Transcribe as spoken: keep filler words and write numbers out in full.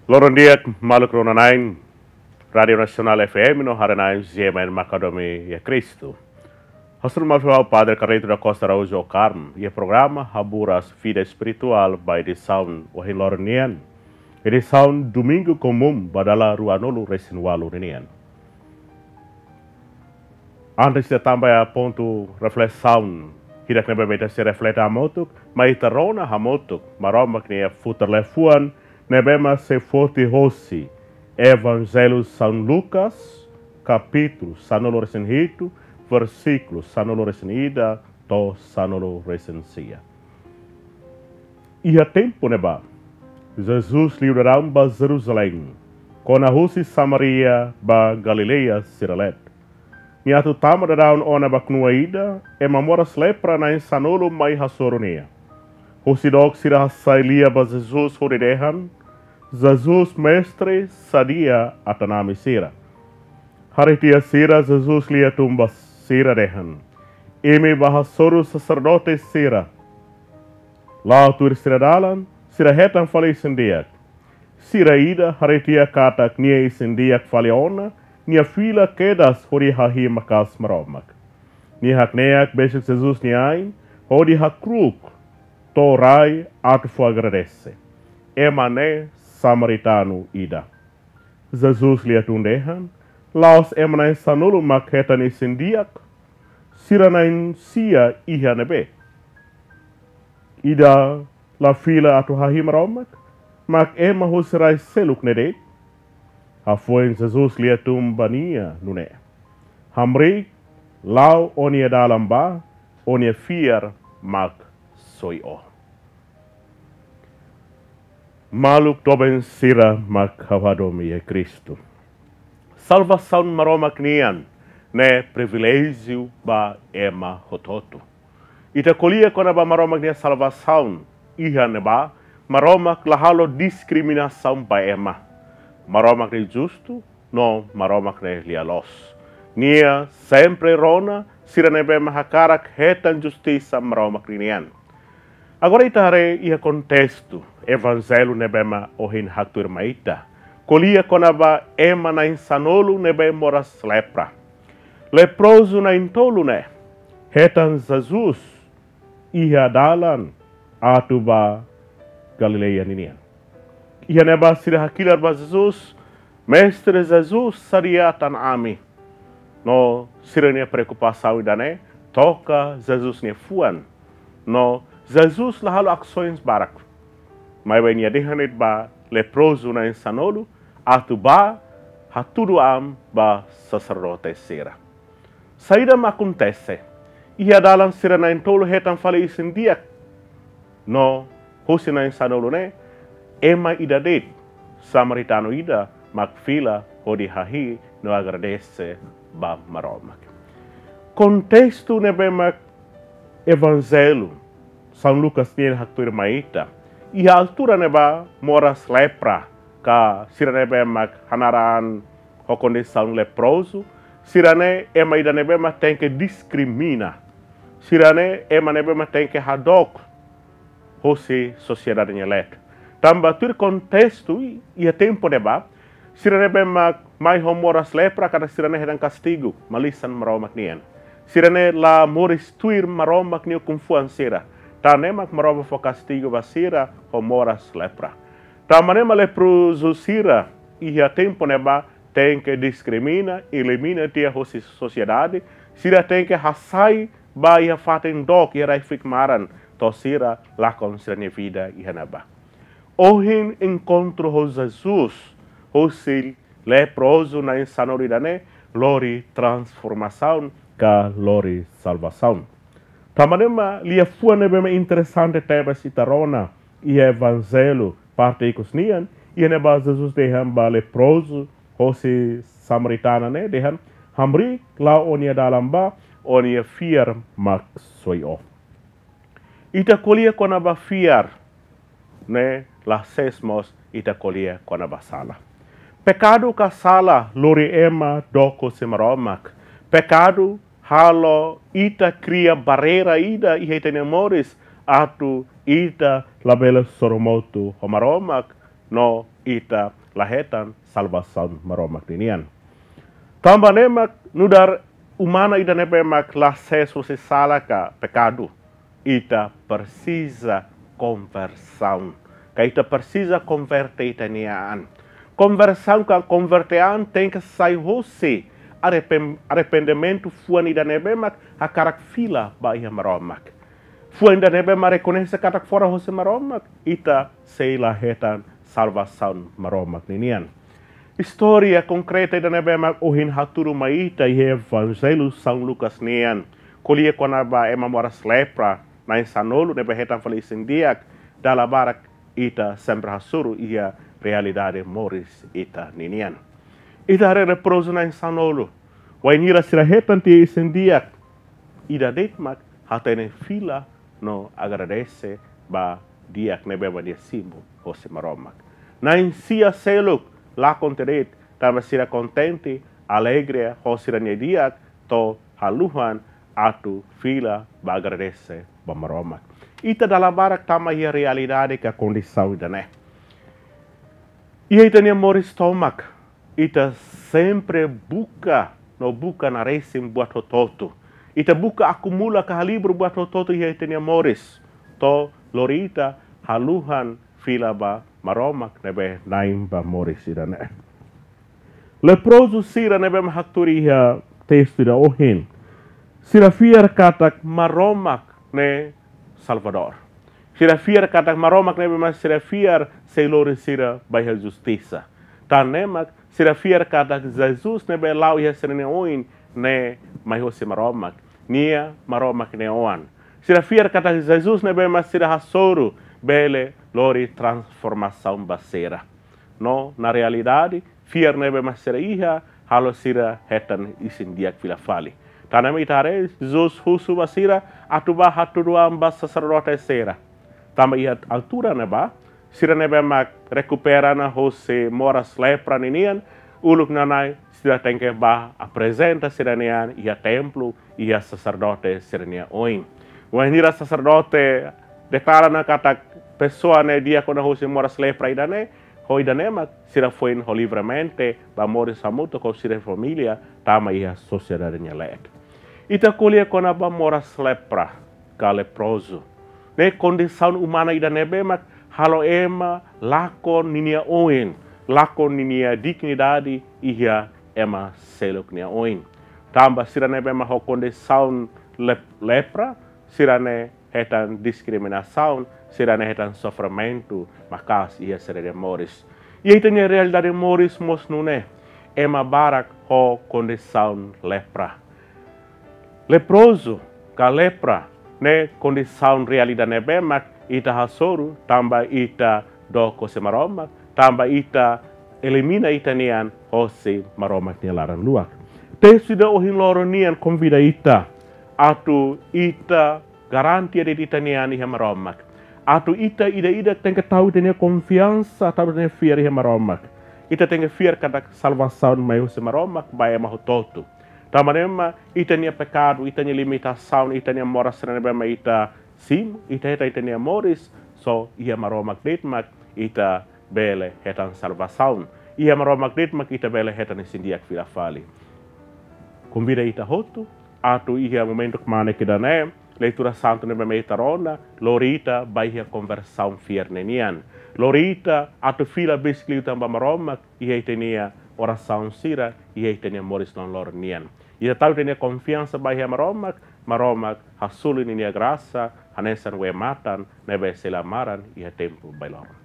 Loron di'ak maluk rona-na'in Rádiu Nasionál F M no haree-na'in G M N maka hadomi iha Kristu. Hasoru malu fali ba Padre Carlito da Costa Araújo Ocarm, iha programa Haburas Vida Espirituál ba edisaun ohin loron nian. Edisaun Domingu Komún ba dala ruanulu-resin-ualu ninian. Antes de tama ba pontu reflesaun hirak ne'ebé mak ita sei reflete hamutuk, mai ita rona hamutuk Maromak nia futar liafuan ne'ebé mak sei foti hosi Evanjellu São Lucas, kapítulu sanulu-resin-hitu, versíkulu sanulu-resin-ida to'o sanulu-resin-sia. Iha tempu ne'ebá, Jesus liu daudaun ba Jerusalém, kona husi Samaria ba Galileia sira leet. Nia atu tama daudaun ona ba knua ida, ema moras lepra na'in sanulu mai hasoru nia. Husi dook sira hasai lia ba Jesus hodi dehan: Jesus Mestre, sadia atan ami sira. Haree tiha sira, Jesus lia tun ba sira dehan: Imi bá hasoru saserdote sira. La'o tuir sira dalan, sira hetan fali isin-di'ak. Sira ida haree tiha katak nia isin-di'ak fali ona, nia fila kedas hodi hahi'i maka'as Maromak. Nia hakne'ak besik Jesus nia ain, hodi hakru'uk to'o rai atu fó agradese. Ema ne'e samaritanu ida. Jesus lia tun dehan: La'ós ema na'in sanulu mak hetan isin-di'ak? Sira na'in-sia iha ne'ebé? Ida la fila atu hahi'i Maromak, mak ema husi rai seluk ne'e de'it? Hafoin Jesus lia tun ba nia nune'e: Hamriik, la'o ó-nia dalan bá, ó-nia fiar maksoin ó. Maluk doben sira mak ha'u hadomi iha Kristu, salvasaun Maromak nian ne'e priviléjiu ba ema hotu-hotu. Ita ko'alia kona-ba Maromak nia salvasaun, iha ne'ebá Maromak la halo diskriminasaun ba ema. Maromak ne'e justu, no Maromak ne'e lia-loos. Nia sempre rona sira ne'ebé mak hakarak hetan justisa Maromak ninian. Agora ita haree iha kontestu Evanjellu ne'ebé mak ohin haktuir mai ita. Ko'alia kona-ba ema na'in sanulu ne'ebé moras lepra. Leprozu na'in-tolu ne'e hetan Jesus iha dalan atu ba Galileia ninian. Iha ne'ebá sira hakilar ba Jesus: Mestre Jesus, sadia atan ami. No sira-nia preokupasaun ida-ne'e toka Jesus nia fuan. No Jesus la halo asaun barak. Maibé nia dehan de'it ba leprozu na'in sanulu atu bá hatudu an ba saserdote sira. Saida mak akontese? Iha dalan sira na'in-tolu hetan fali isin-di'ak. No husi na'in sanulu ne'e, ema ida de'it, samaritanu ida, mak fila hodi hahi'i no agradese ba Maromak. Kontestu ne'ebé mak Evanjellu São Lucas nian haktuir mai ita, iha altura ne'ebá moras lepra, ka sira ne'ebé mak hanaran ho kondisaun leprozu, sira-ne'e ema ida ne'ebé mak tenke diskrimina. Sira-ne'e ema ne'ebé mak tenke hadook husi sosiedade nia leet. Tanba tuir kontestu iha tempu ne'ebá, sira ne'ebé mak mai ho moras lepra katak sira-ne'e hetan kastigu malisan Maromak nian. Sira-ne'e la moris tuir Maromak nia ukun-fuan sira. Tan ne'e mak Maromak fó kastigu ba sira ho moras lepra. Tanba ne'e mak leprozu sira iha tempu ne'ebá tenke diskrimina, elimina tiha husi sosiedade, sira tenke hasai ba iha fatin dook iha rai-fuik maran, to'o sira lakon sira-nia vida iha ne'ebá. Ohin enkontru ho Jesus, husi leprozu na'in sanulu ida-ne'e lori transformasaun ka lori salvasaun. Tanba ne'e mak liafuan ne'ebé mak interesante tebes ita rona iha Evanjellu parte ikus nian, iha ne'ebá Jesus dehan ba leprozu hosi samaritana ne'e dehan: Hamriik, la'o ó-nia dalan bá, ó-nia fiar maksoin ó. Ita ko'alia kona-ba fiar, ne'e la sees mós ita ko'alia kona-ba sala. Pekadu ka sala lori ema dook husi Maromak. Pekadu halo ita kria barreira ida iha ita-nia moris atu ita labele sorumutu ho Maromak no ita la hetan salvasaun Maromak ninian. Tanba ne'e mak nu'udar umanu ida ne'ebé mak la sees husi sala ka pekadu, ita presiza konversaun. Ka ita presiza konverte ita-nia an. Konversaun ka konverte an tenke sai husi arrepen-, arrependimentu fuan ida ne'ebé mak hakarak fila ba iha Maromak. Fuan ida ne'ebé mak rekoñese katak fora husi Maromak, ita sei la hetan salvasaun Maromak ninian. Istória konkreta ida ne'ebé mak ohin hatudu mai ita iha Evanjellu São Lucas nian, ko'alia kona-ba ema moras lepra na'in sanulu ne'ebé hetan fali isin-di'ak, dala barak ita sempre hasoru iha realidade moris ita ninian. Ita haree leprozu na'in sanulu. Wainhira sira hetan tiha isin-di'ak, ida de'it mak hatene fila no agradese ba di'ak ne'ebé mak nia simu hosi Maromak. Na'in sia seluk lakon tiha de'it, tanba sira kontente, alegre ho sira-nia di'ak, to'o haluhan atu fila ba agradese ba Maromak. Ita dala barak tama iha realidade ka kondisaun ida-ne'e. Iha ita-nia moris tomak, ita sempre buka no buka naresin buat hotu-hotu. Ita buka akumula ka halibur buat hotu-hotu iha ita-nia moris, to'o lori ita haluhan fila ba Maromak ne'ebé Na'in ba moris ida-ne'e. Leprozu sira ne'ebé mak hatudu iha testu ida ohin, sira fiar katak Maromak ne'e Salvadór. Sira fiar katak Maromak ne'ebé mak sira fiar sei lori sira ba iha justisa. Tan ne'e mak sira fiar katak Jesus ne'ebé la'o iha sira-nia oin ne'e mai hosi Maromak. Nia Maromak nia Oan. Sira fiar katak Jesus ne'ebé mak sira hasoru bele lori transformasaun ba sira. No, na realidade, fiar ne'ebé mak sira iha, halo sira hetan isin-di'ak fila fali. Tan ne'e mak ita haree, Jesus husu ba sira, atu bá hatudu an ba saserdote sira. Tanba iha altura ne'ebá, sira ne'ebé mak rekupera ona hosi moras lepra ninian, uluk nanain, sira tenke bá aprezenta sira-nia an iha templu, iha saserdote sira-nia oin. Wainhira saserdote deklara ona katak pesoa ne'e di'ak ona hosi moras lepra ida-ne'e, ho ida-ne'e mak sira foin ho livremente bá moris hamutuk ho sira família tama iha sosiedade nia leet. Ita ko'alia kona-ba moras lepra ka leprozu. Ne'e kondisaun umana ida ne'ebé mak halo ema lakon ninia oin, lakon ninia dignidade iha ema seluk nia oin. Tanba sira ne'ebé mak ho kondisaun lep-, lepra, sira-ne'e hetan diskriminasaun, sira-ne'e hetan sofrimentu maka'as iha sira-nia moris. Iha ita-nia realidade moris mós nune'e, ema barak ho kondisaun lepra. Leprozu ka lepra ne'e kondisaun reál ida ne'ebé mak ita hasoru tanba ita dook hosi Maromak, tanba ita elimina ita-nia an hosi Maromak nia laran-luak. Testu ida ohin loron nian konvida ita atu ita garantia de'it ita-nia an iha Maromak. Atu ita ida-idak tenke tau ita-nia konfiansa, tau ita-nia fiar iha Maromak. Ita tenke fiar katak salvasaun mai husi Maromak ba ema hotu-hotu. Tanba ne'e mak ita-nia pekadu, ita-nia limitasaun, ita-nia moras sira ne'ebé mak ita simu, ita hetan ita-nia moris, só iha Maromak de'it mak ita bele hetan salvasaun. Iha Maromak de'it mak ita bele hetan isin-di'ak fila fali. Konvida ita hotu atu iha momentu kmanek ida-ne'e, leitura santu ne'ebé mak ita rona, lori ita ba iha konversaun fiar ne'e nian. Lori ita atu fila besik liután ba Maromak iha ita-nia orasaun sira, iha ita-nia moris loroloron nian. Ita tau ita-nia konfiansa ba iha Maromak, Maromak hasoru ninia grasa hanesan wee-matan ne'ebé sei la maran iha tempu bailoron.